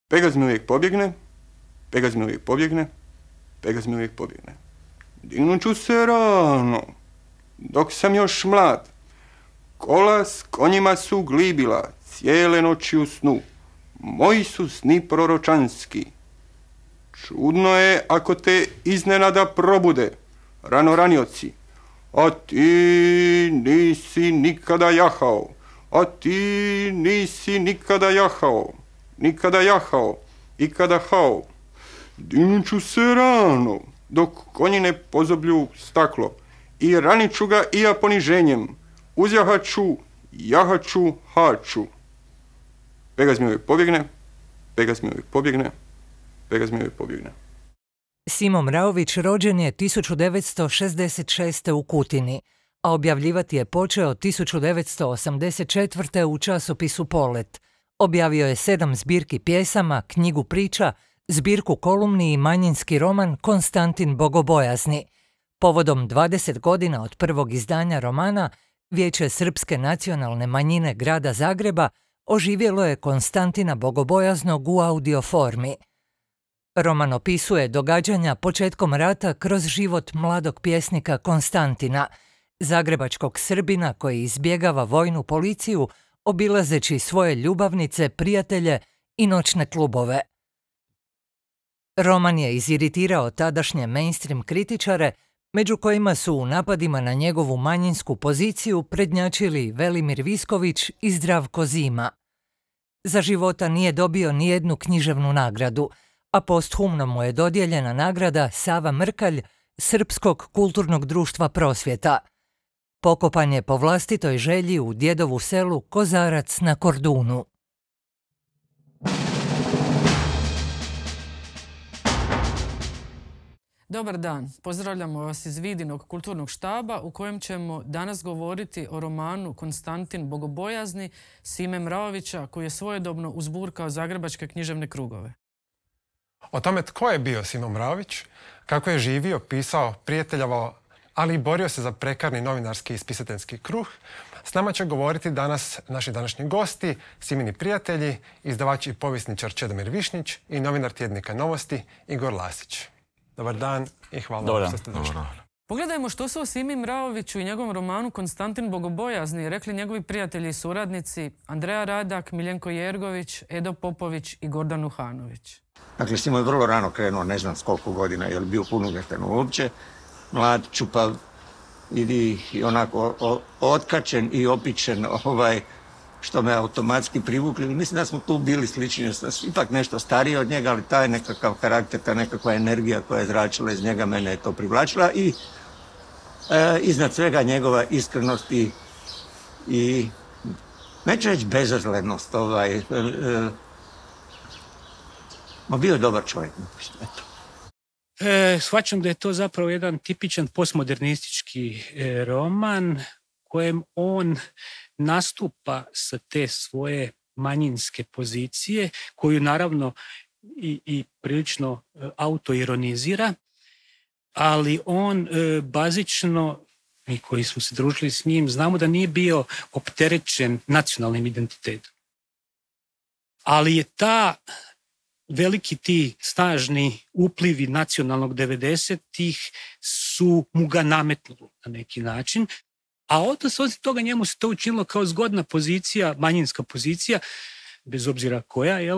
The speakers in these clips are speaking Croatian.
Pegaz mi uvijek pobjegne, Pegaz mi uvijek pobjegne, Pegaz mi uvijek pobjegne. Dignut ću se rano, dok sam još mlad. Kola s konjima su glibila, cijele noći u snu. Moji su sni proročanski. Čudno je ako te iznenada probude, rano ranioci. A ti nisi nikada jahao, a ti nisi nikada jahao, nikada jahao, ikada hao. Dignut ću se rano, dok konji ne pozoblju staklo, i ranit ću ga i ja poniženjem. Uzjahaću, jahaću, haću. Pegaz mi uvijek pobjegne, Pegaz mi uvijek pobjegne, Pegaz mi uvijek pobjegne. Simo Mraović rođen je 1966. u Kutini, a objavljivati je počeo 1984. u časopisu Polet. Objavio je 7 zbirki pjesama, knjigu priča, zbirku kolumni i manjinski roman Konstantin Bogobojazni. Povodom 20 godina od prvog izdanja romana, Vijeće srpske nacionalne manjine grada Zagreba oživjelo je Konstantina Bogobojaznog u audio formi. Roman opisuje događanja početkom rata kroz život mladog pjesnika Konstantina, zagrebačkog Srbina koji izbjegava vojnu policiju, obilazeći svoje ljubavnice, prijatelje i noćne klubove. Roman je iziritirao tadašnje mainstream kritičare, među kojima su u napadima na njegovu manjinsku poziciju prednjačili Velimir Visković i Zdravko Zima. Za života nije dobio nijednu književnu nagradu, a posthumno mu je dodijeljena nagrada Sava Mrkalj Srpskog kulturnog društva Prosvjeta. Pokopan je po vlastitoj želji u djedovu selu Kozarac na Kordunu. Dobar dan, pozdravljamo vas iz Vidinog kulturnog štaba u kojem ćemo danas govoriti o romanu Konstantin Bogobojazni Sime Mraovića koji je svojedobno uzburkao zagrebačke književne krugove. O tome tko je bio Simo Mraović, kako je živio, pisao, prijateljavao, ali i borio se za prekarni novinarski i spisateljski kruh, s nama će govoriti danas naši današnji gosti, Simini prijatelji, izdavač i povjesničar Čedomir Višnjić i novinar tjednika Novosti Igor Lasić. Dobar dan i hvala što ste došli. Pogledajmo što su o Simi Mraoviću i njegovom romanu Konstantin Bogobojazni rekli njegovi prijatelji i suradnici Andreja Radak, Miljenko Jergović, Edo Popović i Gordan Uhanović. Dakle, Simo je vrlo rano krenuo, ne znam s koliko godina, je li bio punoljetan uopće, mlad, čupav i onako otkačen i opičen, što me automatski privukli. Mislim da smo tu bili slični, ipak nešto stariji od njega, ali taj nekakav karakter, ta nekakva energija koja je zračila iz njega, mene je to privlačila i iznad svega njegova iskrenost i neću reći bezazlenost, bio je dobar čovjek. Eto. Shvaćam da je to zapravo jedan tipičan postmodernistički roman kojem on nastupa sa te svoje manjinske pozicije, koju naravno i prilično autoironizira, ali on bazično, mi koji smo se družili s njim, znamo da nije bio opterećen nacionalnim identitetom. Ali je veliki ti snažni uplivi nacionalnog 90-ih su mu ga nametnuli na neki način, a osim toga njemu se to učinilo kao zgodna pozicija, manjinska pozicija, bez obzira koja,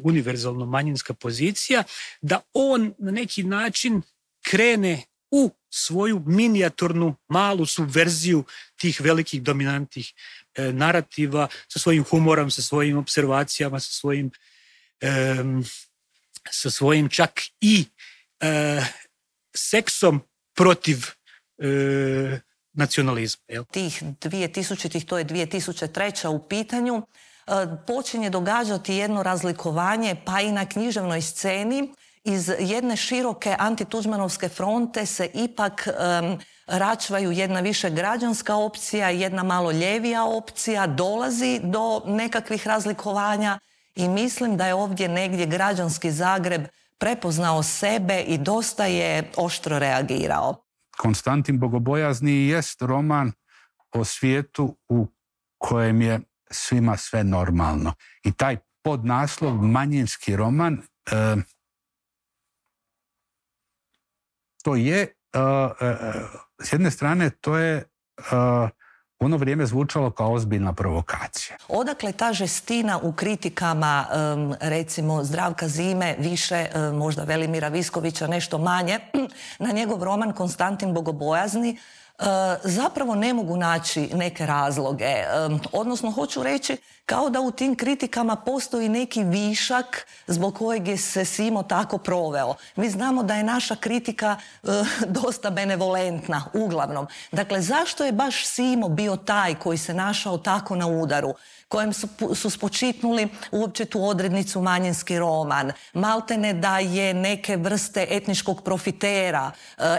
univerzalno manjinska pozicija, da on na neki način krene u svoju minijaturnu malu subverziju tih velikih dominantnih narativa sa svojim humorom, sa svojim observacijama, sa svojim čak i seksom protiv nacionalizma. Tih 2000-ih, to je 2003. u pitanju, počinje događati jedno razlikovanje, pa i na književnoj sceni. Iz jedne široke antituđmanovske fronte se ipak račvaju jedna više građanska opcija, jedna malo ljevija opcija, dolazi do nekakvih razlikovanja i mislim da je ovdje negdje građanski Zagreb prepoznao sebe i dosta je oštro reagirao. Konstantin Bogobojazni jest roman o svijetu u kojem je svima sve normalno. I taj pod naslov manjinski roman. To je, s jedne strane, to je u ono vrijeme zvučalo kao ozbiljna provokacija. Odakle ta žestina u kritikama, recimo Zdravka Zime, više možda Velimira Viskovića, nešto manje, na njegov roman Konstantin Bogobojazni, zapravo ne mogu naći neke razloge. Odnosno, hoću reći, kao da u tim kritikama postoji neki višak zbog kojeg je se Simo tako proveo. Mi znamo da je naša kritika dosta benevolentna, uglavnom. Dakle, zašto je baš Simo bio taj koji se našao tako na udaru, kojem su spočitnuli uopće tu odrednicu manjinski roman, maltene da je neke vrste etničkog profitera,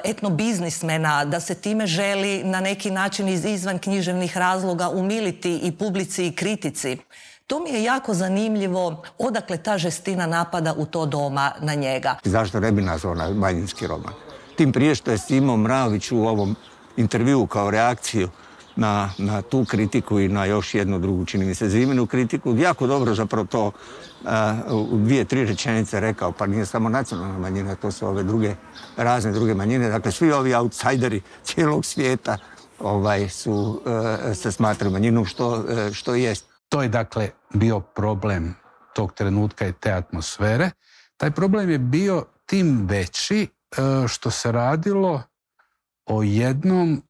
etnobiznismena, da se time želi na neki način iz izvan književnih razloga umiliti i publici i kritici. To mi je jako zanimljivo, odakle ta žestina napada u to doba na njega. Zašto ne bi nazvao na manjinski roman? Tim prije što je Simo Mravić u ovom intervjuu kao reakciju na tu kritiku i na još jednu drugu, čini mi se, Ziminu kritiku, jako dobro zapravo to u 2-3 rečenice rekao, pa nije samo nacionalna manjina, to su ove razne druge manjine, dakle svi ovi outsideri cijelog svijeta se smatraju manjinom, što jest. To je dakle bio problem tog trenutka i te atmosfere. Taj problem je bio tim veći što se radilo o jednom,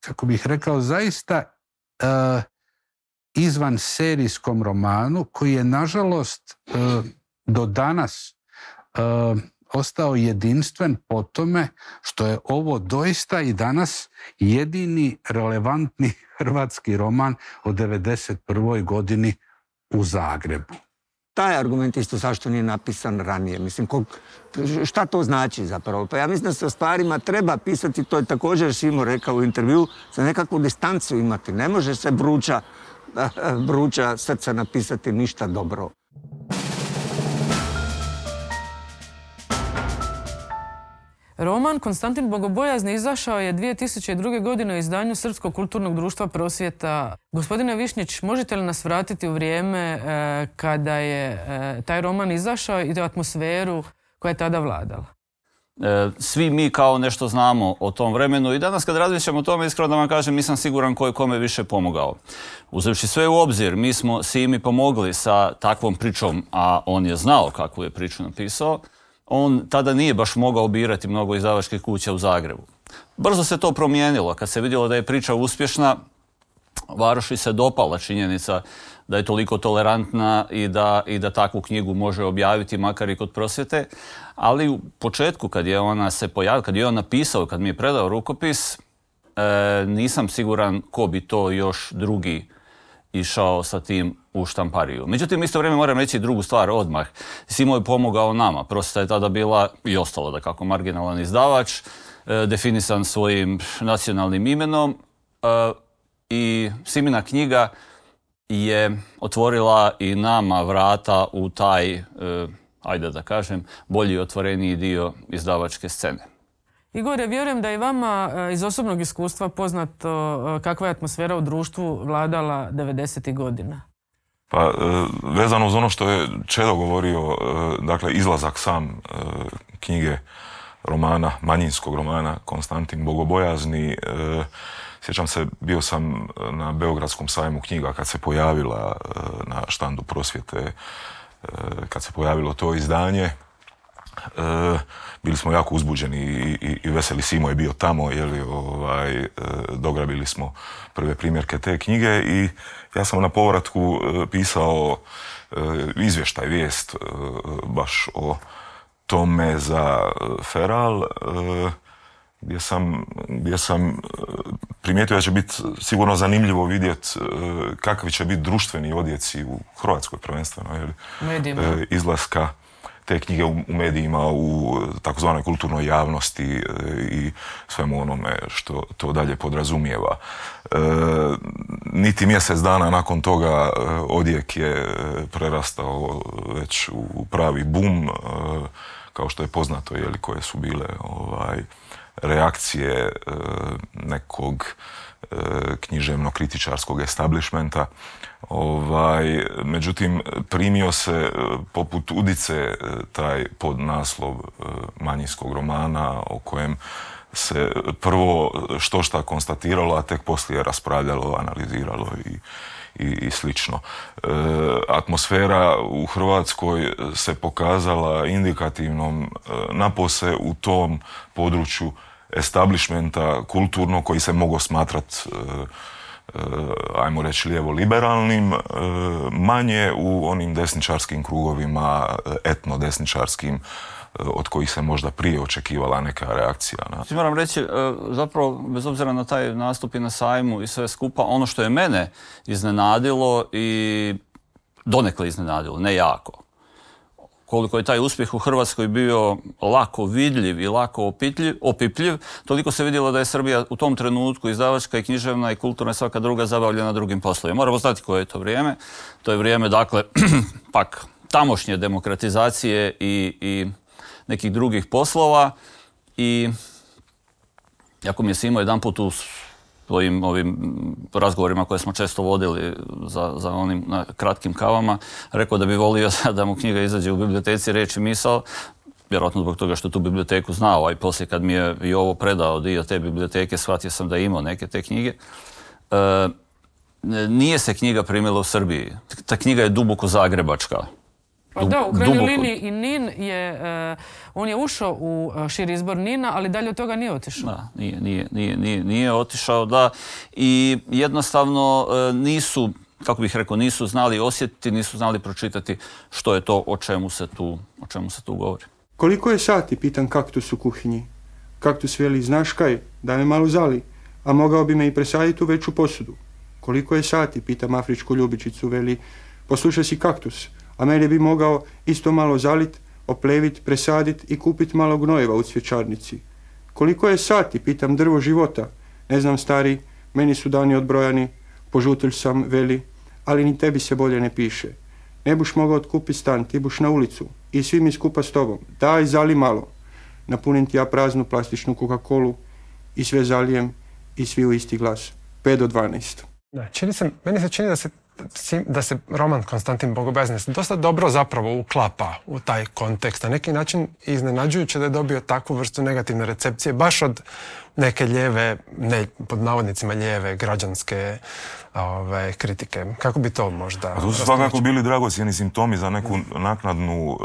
kako bih rekao, zaista izvan serijskom romanu koji je nažalost do danas ostao jedinstven po tome što je ovo doista i danas jedini relevantni hrvatski roman od 1991. godini u Zagrebu. Taj argument isto zašto nije napisan ranije. Mislim, šta to znači zapravo? Pa ja mislim da se o stvarima treba pisati, to je također Simo rekao u intervju, za nekakvu distancu imati. Ne može se vruća srca napisati ništa dobro. Roman Konstantin Bogobojazni izašao je 2002. godine u izdanju Srpskog kulturnog društva Prosvjeta. Gospodine Višnjić, možete li nas vratiti u vrijeme kada je taj roman izašao i tu atmosferu koja je tada vladala? Svi mi kao nešto znamo o tom vremenu i danas kad razmišljamo o tome, iskreno da vam kažem, nisam siguran ko je kome više pomogao. Uzevši sve u obzir, mi smo Simi pomogli sa takvom pričom, a on je znao kakvu je priču napisao. On tada nije baš mogao birati mnogo izdavačkih kuća u Zagrebu. Brzo se to promijenilo. Kad se vidjelo da je priča uspješna, Varoši se dopala činjenica da je toliko tolerantna i da takvu knjigu može objaviti, makar i kod Prosvjete. Ali u početku, kad je ona se pojavila, kad je on napisao, kad mi je predao rukopis, nisam siguran ko bi to još drugi išao sa tim u štampariju. Međutim, isto vrijeme moram reći drugu stvar odmah. Simo je pomogao nama. Prosvjeta je tada bila i ostala da kako marginalan izdavač, definisan svojim nacionalnim imenom i Simina knjiga je otvorila i nama vrata u taj, ajde da kažem, bolji i otvoreniji dio izdavačke scene. Igore, vjerujem da je vama iz osobnog iskustva poznato kakva je atmosfera u društvu vladala 90. godina. Pa, vezano uz ono što je Čedo govorio, dakle, izlazak sam knjige romana, manjinskog romana Konstantin Bogobojazni, sjećam se, bio sam na Beogradskom sajmu knjiga kad se pojavila na štandu Prosvjete, kad se pojavilo to izdanje. Bili smo jako uzbuđeni i veseli. Simo je bio tamo, dograbili smo prve primjerke te knjige i ja sam na povratku pisao izvještaj, vijest baš o tome za Feral, gdje sam primijetio da će biti sigurno zanimljivo vidjeti kakvi će biti društveni odjeci u Hrvatskoj prvenstveno, izlaska te knjige u medijima, u takozvanoj kulturnoj javnosti i svemu onome što to dalje podrazumijeva. Niti mjesec dana nakon toga odjek je prerastao već u pravi bum, kao što je poznato, koje su bile reakcije nekog književno-kritičarskog establishmenta. Međutim, primio se poput udice taj podnaslov manjinskog romana o kojem se prvo štošta konstatiralo, a tek poslije raspravljalo, analiziralo i slično. Atmosfera u Hrvatskoj se pokazala indikativnom napose u tom području establishmenta kulturno koji se mogao smatrati ajmo reći lijevo-liberalnim, manje u onim desničarskim krugovima, etno-desničarskim, od kojih se možda prije očekivala neka reakcija. Moram reći, zapravo, bez obzira na taj nastup i na sajmu i sve skupa, ono što je mene iznenadilo i donekle iznenadilo, ne jako, koliko je taj uspjeh u Hrvatskoj bio lako vidljiv i lako opipljiv, toliko se vidjelo da je Srbija u tom trenutku izdavačka i književna i kulturna i svaka druga zabavljena drugim poslovima. Moramo znati koje je to vrijeme. To je vrijeme, dakle, pak tamošnje demokratizacije i nekih drugih poslova. I jako mi je Simo jedan put u svojim ovim razgovorima koje smo često vodili za onim kratkim kavama, rekao da bi volio da mu knjiga izađe u biblioteci Riječ i misao, vjerojatno zbog toga što tu biblioteku znao, a i poslije kad mi je i ovo predao dio te biblioteke, shvatio sam da je imao neke te knjige. Nije se knjiga primila u Srbiji. Ta knjiga je duboko zagrebačka. Pa da, u krajnjoj liniji i Nin je, on je ušao u širi izbor Nina, ali dalje od toga nije otišao. Da, nije otišao, da. I jednostavno nisu, kako bih rekao, nisu znali osjetiti, nisu znali pročitati što je to o čemu se tu govori. Koliko je sati, pitam kaktus u kuhinji. Kaktus veli, znaš kaj, daj me malo zali, a mogao bi me i presaditi u veću posudu. Koliko je sati, pitam afričku ljubičicu, veli, poslušaj si kaktus, a mene bi mogao isto malo zalit, oplevit, presadit i kupit malo gnojeva u cvjećarnici. Koliko je sati, pitam drvo života. Ne znam, stari, meni su dani odbrojani, požutilj sam, veli, ali ni tebi se bolje ne piše. Ne buš mogao otkupit stan, ti buš na ulicu i svi mi skupa s tobom. Daj, zali malo. Napunim ti ja praznu plastičnu Coca-Colu i sve zalijem i svi u isti glas. 5 do 12. Da, meni se čini da se roman Konstantin Bogobojazni dosta dobro zapravo uklapa u taj kontekst. Na neki način iznenađujuće da je dobio takvu vrstu negativne recepcije baš od neke lijeve, ne pod navodnicima lijeve, građanske kritike. Kako bi to možda... A to su svakako bili dragocjeni simptomi za neku naknadnu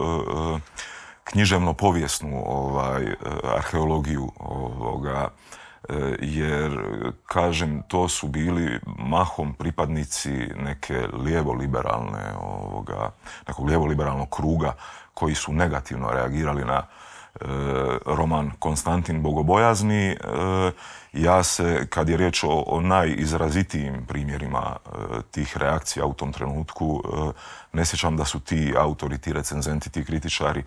književno-povijesnu arheologiju ovoga, jer, kažem, to su bili mahom pripadnici neke nekog lijevo-liberalnog kruga koji su negativno reagirali na roman Konstantin Bogobojazni. Ja se, kad je riječ o najizrazitijim primjerima tih reakcija u tom trenutku, ne sjećam da su ti autori, ti recenzenti, ti kritičari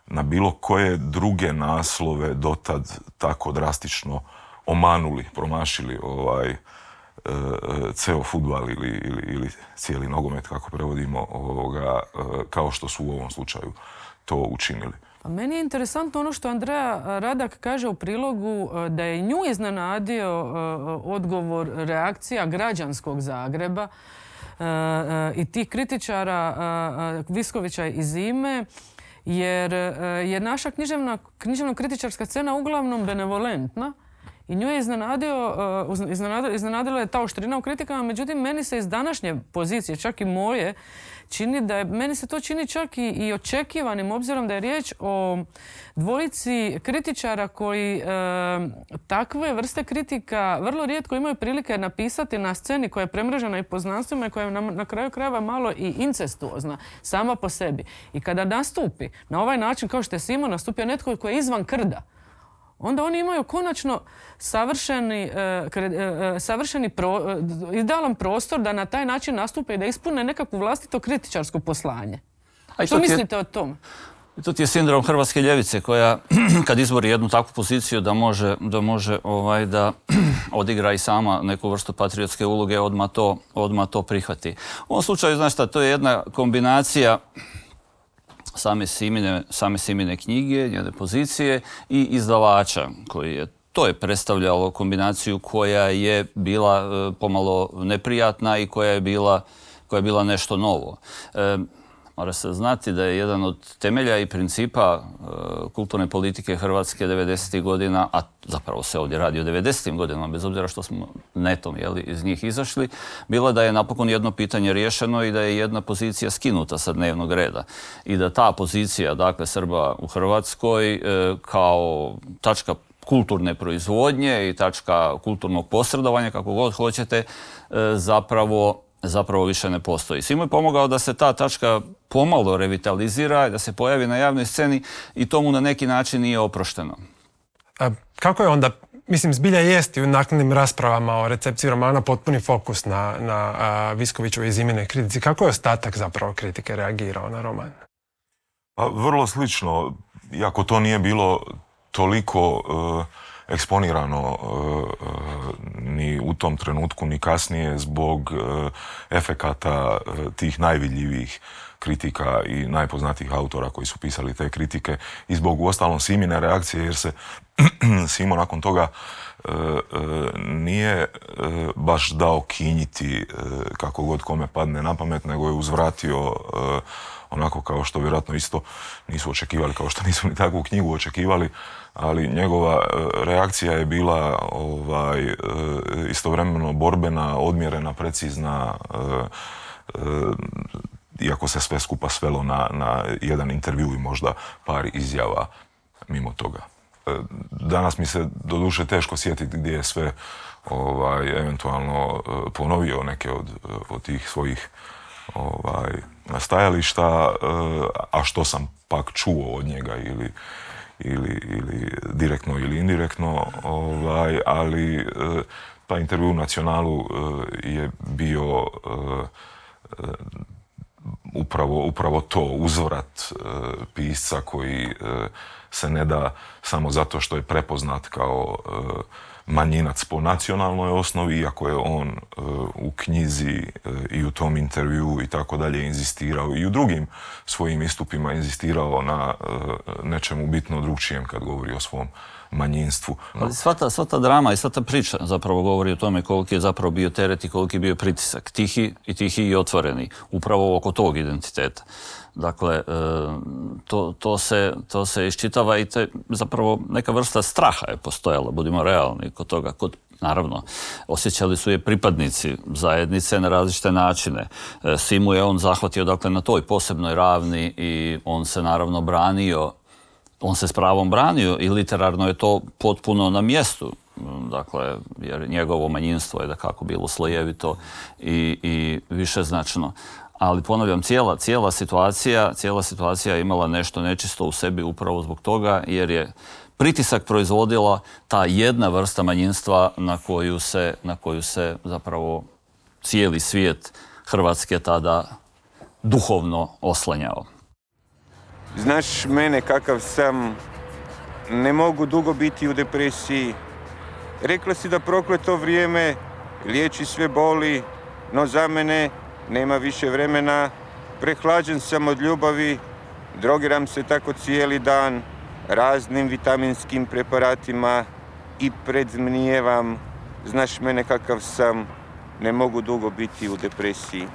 na bilo koje druge naslove dotad tako drastično omanuli, promašili ceo fudbal ili cijeli nogomet, kako prevodimo, kao što su u ovom slučaju to učinili. Pa meni je interesantno ono što Andreja Radak kaže u prilogu, da je nju iznenadio odgovor, reakcija građanskog Zagreba i tih kritičara Viskovića i Zime, jer je naša književno-kritičarska scena uglavnom benevolentna i nju je iznenadila je ta oštrina u kritikama, međutim meni se iz današnje pozicije, čak i moje, meni se to čini čak i očekivanim, obzirom da je riječ o dvojici kritičara koji takve vrste kritika vrlo rijetko imaju prilike napisati na sceni koja je premrežena i poznanstvima i koja je na kraju krajeva malo i incestuozna sama po sebi. I kada nastupi na ovaj način kao što je Simo nastupio netko koji je izvan krda, onda oni imaju konačno idealan prostor da na taj način nastupe i da ispune nekakvu vlastito kritičarsko poslanje. Što mislite o tom? To ti je sindrom hrvatske ljevice koja, kad izbori jednu takvu poziciju da može da odigra i sama neku vrstu patriotske uloge, odmah to prihvati. U ovom slučaju, znaš šta, to je jedna kombinacija same Simine knjige, njene pozicije i izdavača koji je. To je predstavljalo kombinaciju koja je bila pomalo neprijatna i koja je bila nešto novo. Mora se znati da je jedan od temelja i principa kulturne politike Hrvatske 90. godina, a zapravo se ovdje radi o 90. godinama, bez obzira što smo netom iz njih izašli, bila da je napokon jedno pitanje riješeno i da je jedna pozicija skinuta sa dnevnog reda. I da ta pozicija, dakle, Srba u Hrvatskoj kao tačka kulturne proizvodnje i tačka kulturnog posredovanja, kako god hoćete, zapravo više ne postoji. Svima je pomogao da se ta tačka pomalo revitalizira i da se pojavi na javnoj sceni i tomu na neki način nije oprošteno. Kako je onda, mislim, zbilja jest i u naknadnim raspravama o recepciji romana potpuni fokus na Viskovićevoj Zimine kritici. Kako je ostatak zapravo kritike reagirao na roman? Pa, vrlo slično, iako to nije bilo toliko eksponirano ni u tom trenutku ni kasnije zbog efekata tih najvidljivijih kritika i najpoznatijih autora koji su pisali te kritike i zbog uostalom Simine reakcije, jer se Simo nakon toga nije baš dao kinjiti kako god kome padne na pamet, nego je uzvratio onako kao što vjerojatno isto nisu očekivali, kao što nisu ni takvu knjigu očekivali, ali njegova reakcija je bila istovremeno borbena, odmjerena, precizna, iako se sve skupa svelo na jedan intervju i možda par izjava mimo toga. Danas mi se doduše teško sjetiti gdje je sve eventualno ponovio neke od tih svojih stajališta, a što sam pak čuo od njega ili direktno ili indirektno, ali taj intervju u Nacionalu je bio upravo to, uzvrat pisca koji se ne da samo zato što je prepoznat kao manjinac po nacionalnoj osnovi, iako je on u knjizi i u tom intervju i tako dalje inzistirao i u drugim svojim istupima inzistirao na nečemu bitno drugčijem kad govori o svom manjinstvu. Ali sva ta drama i sva ta priča zapravo govori o tome koliki je zapravo bio teret i koliki je bio pritisak, tihi i otvoreni, upravo oko tog identiteta. Dakle, to se iščitava i zapravo neka vrsta straha je postojala, budimo realni kod toga. Naravno, osjećali su je pripadnici zajednice na različite načine. Simu je on zahvatio dakle, na toj posebnoj ravni i on se naravno branio. On se s pravom branio i literarno je to potpuno na mjestu. Dakle, jer njegovo manjinstvo je dakako bilo slojevito i višeznačno. Ali ponavljam, cijela situacija je imala nešto nečisto u sebi upravo zbog toga, jer je pritisak proizvodila ta jedna vrsta manjinstva na koju se zapravo cijeli svijet Hrvatske tada duhovno oslanjao. Znaš mene kakav sam, ne mogu dugo biti u depresiji. Rekla si da prokleto vrijeme liječi sve boli, no za mene nema više vremena. Prehlađen sam od ljubavi, drogiram se tako cijeli dan raznim vitaminskim preparatima i predzmnijevam. Znaš mene kakav sam, ne mogu dugo biti u depresiji.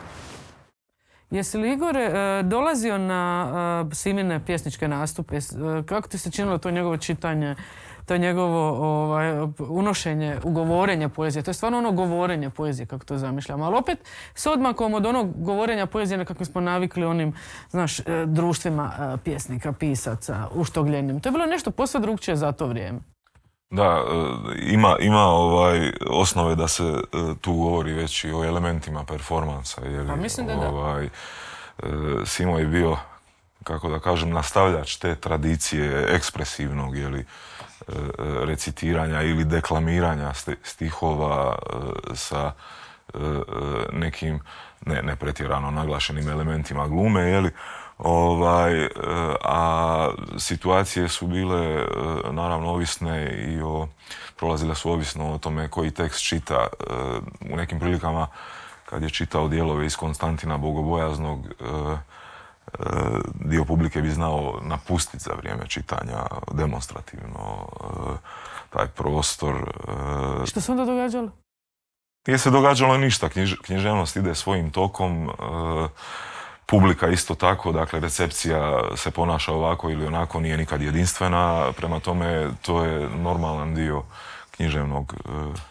Jesi li, Igore, dolazio na Simine pjesničke nastupe? Kako ti se činilo to njegovo čitanje, to njegovo unošenje, ugovorenje poezije? To je stvarno ono govorenje poezije, kako to zamišljamo. Ali opet s odmakom od onog govorenja poezije na kako smo navikli onim, znaš, društvima pjesnika, pisaca, uštogljenim. To je bilo nešto posve drugčije za to vrijeme. Da, ima osnove da se tu govori već i o elementima performansa. Pa mislim da da. Simo je bio, kako da kažem, nastavljač te tradicije ekspresivnog recitiranja ili deklamiranja stihova sa nekim ne pretjerano naglašenim elementima glume, a situacije su bile naravno ovisne i prolazile su ovisno o tome koji tekst čita. U nekim prilikama kad je čitao dijelove iz Konstantina Bogobojaznog dio publike bi znao napustiti za vrijeme čitanja demonstrativno taj prostor. Što se onda događalo? Nije se događalo ništa, književnost ide svojim tokom, publika isto tako, dakle recepcija se ponaša ovako ili onako, nije nikad jedinstvena, prema tome to je normalan dio književnog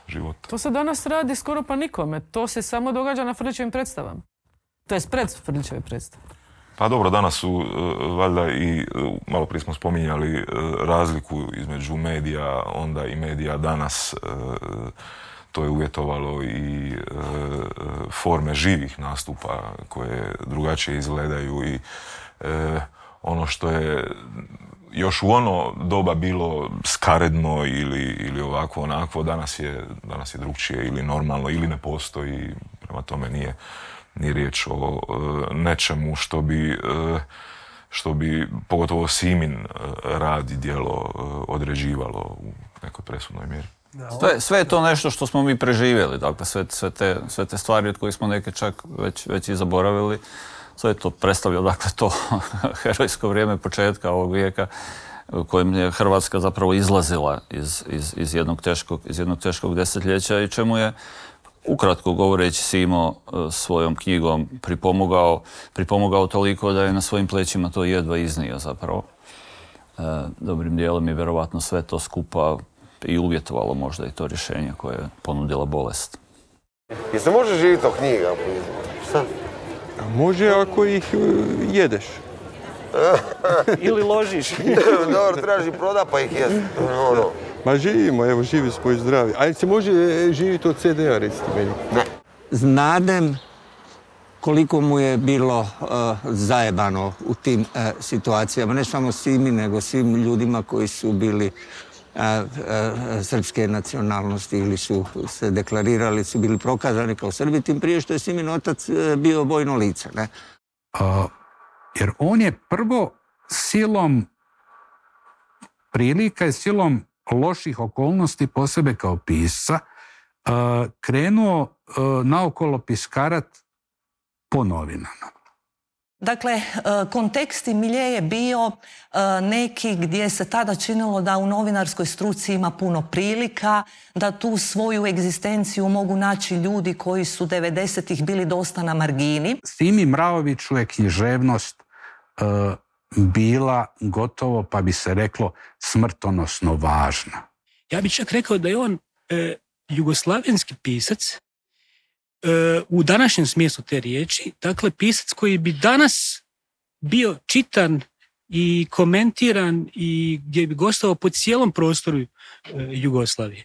života. To se danas radi skoro pa nikome, to se samo događa na Frljićevim predstavama. To je pred Frljićeve predstave. Pa dobro, danas su valjda i, malo prije smo spominjali razliku između medija onda i medija danas. To je uvjetovalo i forme živih nastupa koje drugačije izgledaju i ono što je još u ono doba bilo skaredno ili ovako onako, danas je drugčije ili normalno ili ne postoji, prema tome nije riječ o nečemu što bi pogotovo Simin rad i djelo određivalo u nekoj presudnoj mjeri. Sve je to nešto što smo mi preživjeli, dakle sve te stvari od kojih smo neke čak već i zaboravili, sve je to predstavlja, dakle to herojsko vrijeme početka ovog vijeka u kojem je Hrvatska zapravo izlazila iz jednog teškog desetljeća i čemu je ukratko govoreći Simo svojom knjigom pripomogao toliko da je na svojim plećima to jedva iznio zapravo. Dobrim dijelom je vjerovatno sve to skupa i uvjetovalo možda i to rješenje koje je ponudila bolest. Jel se može živjeti od knjiga? Šta? Može ako ih jedeš. Ili ložiš. Dobro, trebaš ih proda pa ih jest. Ma živimo, evo živi smo i zdravi. Ali se može živjeti od CD-a, recite meni. Ne. Znadem koliko mu je bilo zajebano u tim situacijama. Ne samo Simi, nego svim ljudima koji su bili srpske nacionalnosti ili su se deklarirali, su bili prokazani kao Srbi, tim prije što je Simin otac bio vojno lice. Ne? Jer on je prvo silom prilika i silom loših okolnosti po sebe kao pisca krenuo naokolo piskarat po novinama. Dakle, kontekst i milje je bio neki gdje se tada činilo da u novinarskoj struci ima puno prilika, da tu svoju egzistenciju mogu naći ljudi koji su 90-ih bili dosta na margini. Simi Mraoviću je književnost bila gotovo, pa bi se reklo, smrtonosno važna. Ja bih čak rekao da je on jugoslavenski pisac u današnjem smislu te riječi, dakle pisac koji bi danas bio čitan i komentiran i gdje bi gostovao po cijelom prostoru Jugoslavije.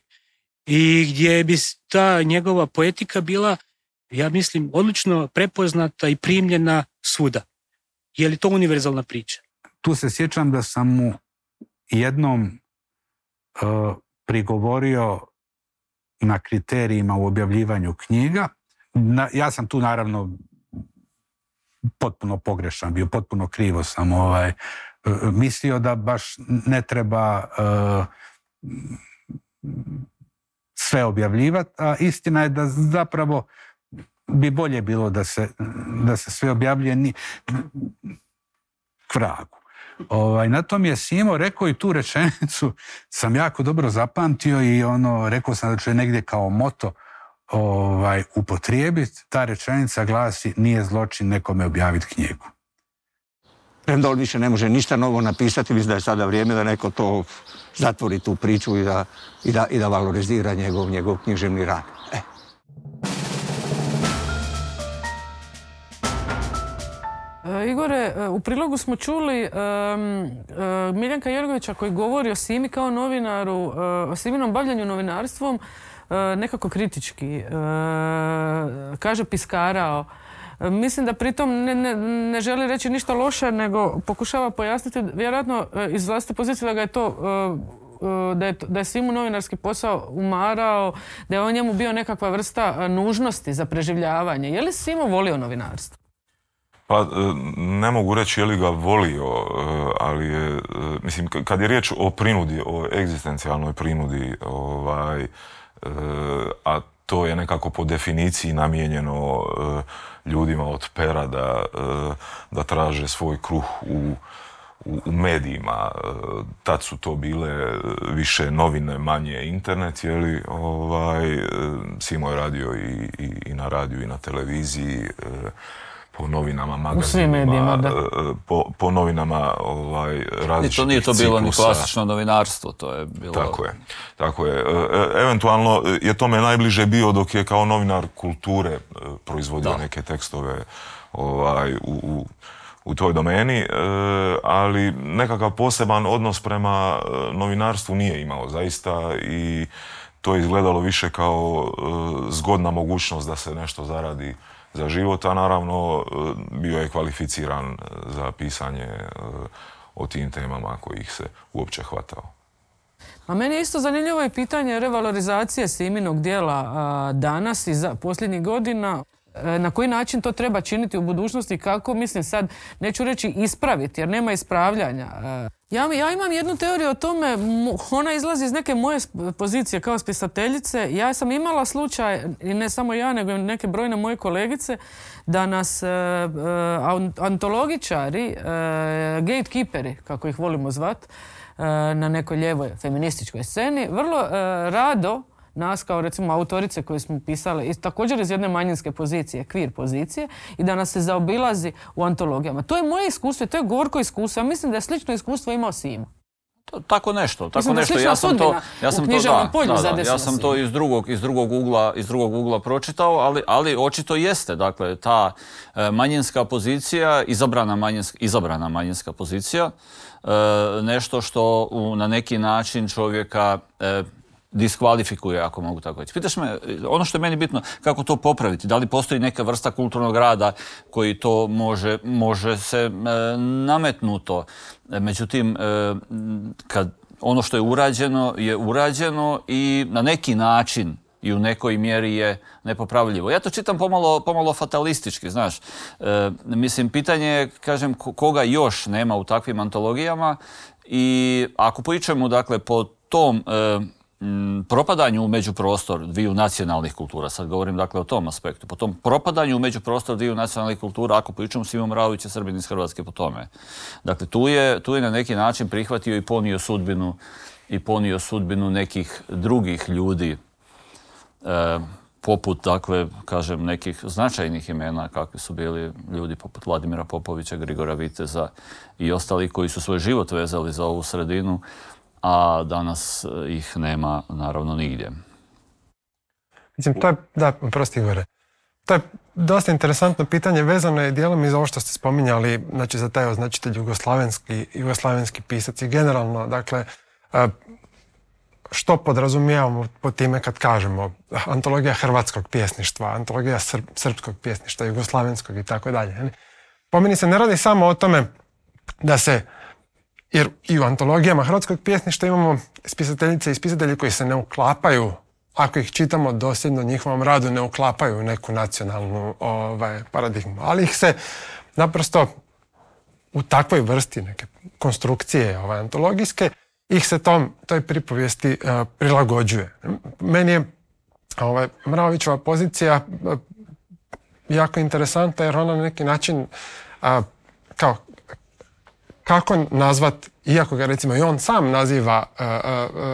I gdje bi ta njegova poetika bila, ja mislim, odlično prepoznata i primljena svuda. Je li to univerzalna priča? Tu se sjećam da sam mu jednom prigovorio na kriterijima u objavljivanju knjiga. Ja sam tu naravno potpuno pogrešan bio, potpuno krivo sam mislio da baš ne treba sve objavljivati, a istina je da zapravo bi bolje bilo da se sve objavljuje k vragu. Na tom je Simo rekao i tu rečenicu sam jako dobro zapamtio i rekao sam da ću je negdje kao moto upotrijebiti. Ta rečenica glasi: nije zločin nekome objaviti knjigu. Premda on više ne može ništa novo napisati, mislim da je sada vrijeme da neko to zatvori tu priču i da valorizira njegov književni rad. Igore, u prilogu smo čuli Miljenka Jergovića koji govori o Simi kao novinaru, o Siminom bavljanju novinarstvom nekako kritički. Kaže piskarao. Mislim da pritom ne želi reći ništa loše, nego pokušava pojasniti vjerojatno iz vlastite pozicije da ga je to da je Simu novinarski posao umarao, da je on njemu bio nekakva vrsta nužnosti za preživljavanje. Je li Simo volio novinarstvo? Pa ne mogu reći je li ga volio, ali je, mislim, kad je riječ o prinudi, o egzistencijalnoj prinudi, a to je nekako po definiciji namijenjeno ljudima od pera da traže svoj kruh u medijima. Tad su to bile više novine, manje internet, Simo je radio i na radiju i na televiziji, po novinama, magazinima, u svim medijima, da. Po novinama različitih ciklusa. I to nije to bilo ni klasično novinarstvo, to je bilo... Tako je. Eventualno je tome najbliže bio dok je kao novinar kulture proizvodio neke tekstove u toj domeni, ali nekakav poseban odnos prema novinarstvu nije imao zaista i to je izgledalo više kao zgodna mogućnost da se nešto zaradi za život, a naravno bio je kvalificiran za pisanje o tim temama kojih se uopće hvatao. A meni je isto zanimljivo je pitanje revalorizacije Siminog djela danas i posljednjih godina. Na koji način to treba činiti u budućnosti, kako, mislim sad, neću reći ispraviti, jer nema ispravljanja. Ja imam jednu teoriju o tome, ona izlazi iz neke moje pozicije kao spisateljice. Ja sam imala slučaj, i ne samo ja, nego i neke brojne moje kolegice, da nas antologičari, gatekeeperi, kako ih volimo zvat, na nekoj lijevoj feminističkoj sceni, vrlo rado nas kao recimo autorice koje smo pisale također iz jedne manjinske pozicije, queer pozicije, i da nas se zaobilazi u antologijama. To je moje iskustvo, to je gorko iskustvo. Ja mislim da je slično iskustvo imao Simo. Tako nešto. Ja sam to iz drugog ugla pročitao, ali očito jeste. Dakle, ta manjinska pozicija, izabrana manjinska pozicija, nešto što na neki način čovjeka diskvalifikuje, ako mogu tako reći. Pitaš me, ono što je meni bitno, kako to popraviti? Da li postoji neka vrsta kulturnog rada koji to može se nametnuto? Međutim, kad ono što je urađeno i na neki način i u nekoj mjeri je nepopravljivo. Ja to čitam pomalo fatalistički, znaš. Mislim, pitanje je, kažem, koga još nema u takvim antologijama i ako pričamo, dakle, po tom propadanju u međuprostor dviju nacionalnih kultura, sad govorim dakle o tom aspektu, po tom propadanju u međuprostor dviju nacionalnih kultura, ako pričamo Simo Mraović je Srbin iz Hrvatske po tome. Dakle, tu je na neki način prihvatio i ponio sudbinu nekih drugih ljudi, poput, dakle, kažem, nekih značajnih imena, kakvi su bili ljudi poput Vladimira Popovića, Grigora Viteza i ostali koji su svoj život vezali za ovu sredinu, a danas ih nema naravno nigdje. Mislim, to je, prosti Igore, to je dosta interesantno pitanje, vezano je dijelom i za ovo što ste spominjali, znači za taj označitelj jugoslavenski pisac i generalno, dakle, što podrazumijevamo po time kad kažemo antologija hrvatskog pjesništva, antologija srpskog pjesništva, jugoslavenskog i tako dalje. Po meni se ne radi samo o tome da se, jer i u antologijama hrvatskog pjesništva imamo spisateljice i spisatelji koji se ne uklapaju, ako ih čitamo dosljedno njihovom radu, ne uklapaju u neku nacionalnu paradigmu. Ali ih se naprosto u takvoj vrsti neke konstrukcije antologijske, ih se toj pripovijesti prilagođuje. Meni je Mraovićeva pozicija jako interesantna jer ona na neki način kako nazvat, iako ga recimo i on sam naziva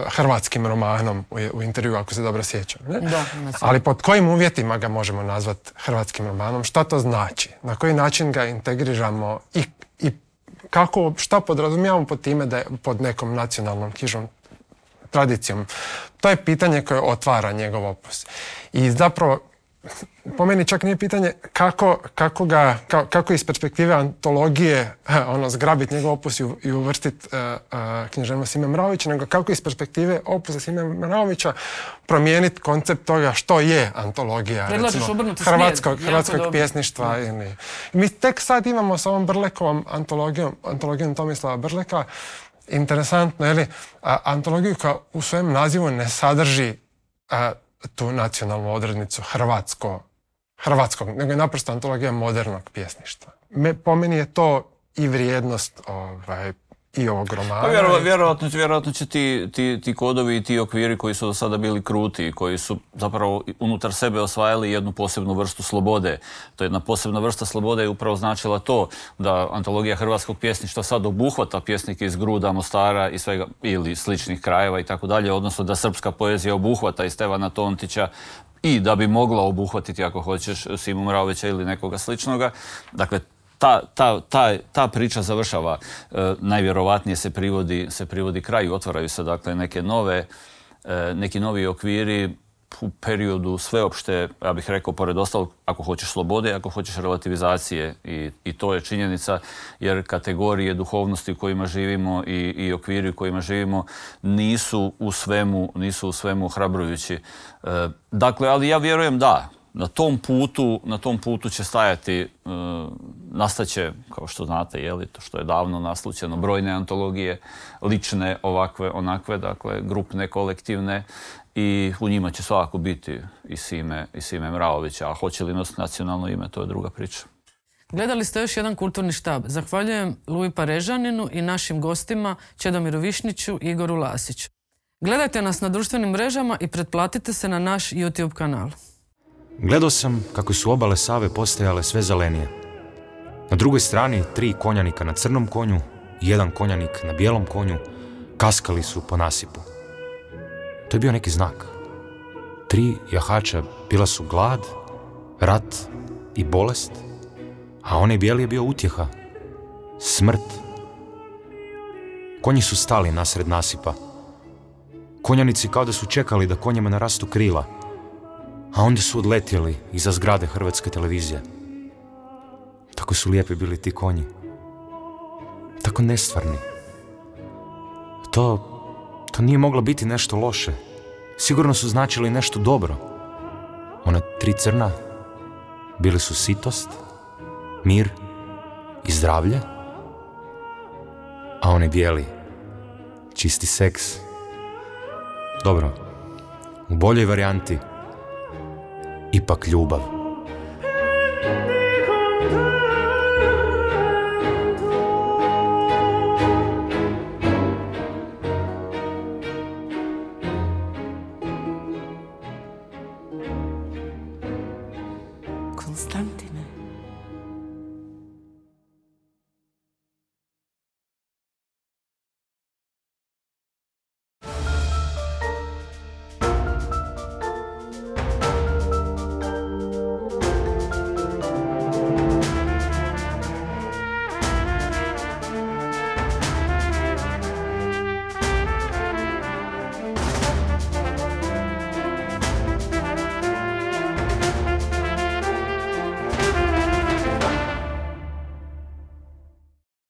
hrvatskim romanom u intervju, ako se dobro sjećam. Ne? Da, ali pod kojim uvjetima ga možemo nazvat hrvatskim romanom? Šta to znači? Na koji način ga integriramo i šta podrazumijevamo pod time da je pod nekom nacionalnom knjižnom tradicijom? To je pitanje koje otvara njegov opus. I zapravo, po meni čak nije pitanje kako iz perspektive antologije zgrabiti njegov opus i uvrstiti književnost Sime Mraovića, nego kako iz perspektive opusa Sime Mraovića promijeniti koncept toga što je antologija, recimo, hrvatskog pjesništva. Mi tek sad imamo s ovom Brlekovom antologijom Tomislava Brleka, interesantno, antologiju koja u svojem nazivu ne sadrži tu nacionalnu odrednicu hrvatskog, nego je naprosto antologija modernog pjesništva. Po meni je to i vrijednost i ovog romana. Pa vjerojatno će ti kodovi i ti okviri koji su do sada bili kruti i koji su zapravo unutar sebe osvajali jednu posebnu vrstu slobode. To je jedna posebna vrsta slobode je upravo značila to da antologija hrvatskog pjesništva sad obuhvata pjesnike iz Gruda, Mostara i svega ili sličnih krajeva i tako dalje, odnosno da srpska poezija obuhvata i Stevana Tontića i da bi mogla obuhvatiti, ako hoćeš, Simu Mraovića ili nekoga sličnoga. Dakle, ta priča završava, najvjerovatnije se privodi kraju, otvaraju se dakle neki novi okviri u periodu sveopšte, ja bih rekao, pored ostalog, ako hoćeš slobode, ako hoćeš relativizacije i to je činjenica, jer kategorije duhovnosti u kojima živimo i okviri u kojima živimo nisu u svemu ohrabrujući. Dakle, ali ja vjerujem da na tom putu će stajati, nastaće, kao što znate, to što je davno naslućeno, brojne antologije, lične, ovakve, onakve, dakle, grupne, kolektivne, i u njima će svakako biti i Sime Mraovića, a hoće li nositi nacionalno ime, to je druga priča. Gledali ste još jedan kulturni štab. Zahvaljujem Luji Parežaninu i našim gostima Čedomiru Višniću i Igoru Lasiću. Gledajte nas na društvenim mrežama i pretplatite se na naš YouTube kanal. Gledao sam kako su obale Save postajale sve zelenije. Na drugoj strani 3 konjanika na crnom konju i 1 konjanik na bijelom konju kaskali su po nasipu. To je bio neki znak. 3 jahača bila su glad, rat i bolest, a onaj bijeli je bio utjeha, smrt. Konji su stali nasred nasipa. Konjanici kao da su čekali da konjima narastu krila, a onda su odletjeli iza zgrade Hrvatske televizije. Tako su lijepi bili ti konji. Tako nestvarni. To nije moglo biti nešto loše. Sigurno su značili nešto dobro. Ona 3 crna bili su sitost, mir i zdravlje, a one bijeli čisti seks. Dobro, u boljoj varijanti ipak ljubav. Konstantin.